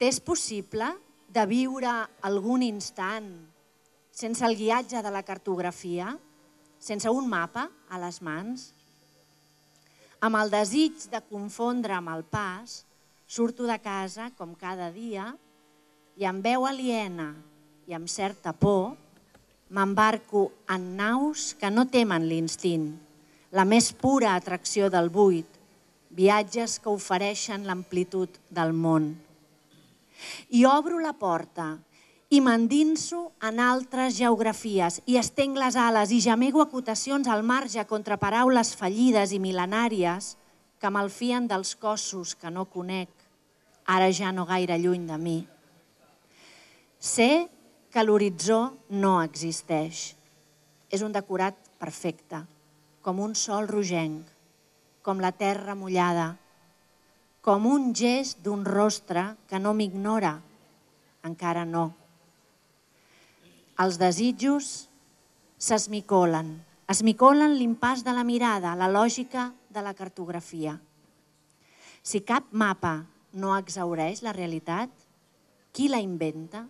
T'és possible de viure algun instant sense el guiatge de la cartografia, sense un mapa a les mans? Amb el desig de confondre amb el pas, surto de casa com cada dia i amb veu aliena i amb certa por m'embarco en naus que no temen l'instint, la més pura atracció del buit, viatges que ofereixen l'amplitud del món. I obro la porta i m'endinso en altres geografies i estenc les ales i gemego acotacions al marge contra paraules fallides i mil·lenàries que malfien dels cossos que no conec, ara ja no gaire lluny de mi. Sé que l'horitzó no existeix. És un decorat perfecte, com un sol rogenc, com la terra mullada, com un gest d'un rostre que no m'ignora, encara no. Els desitjos s'esmicolen l'impàs de la mirada, la lògica de la cartografia. Si cap mapa no exhaureix la realitat, qui la inventa?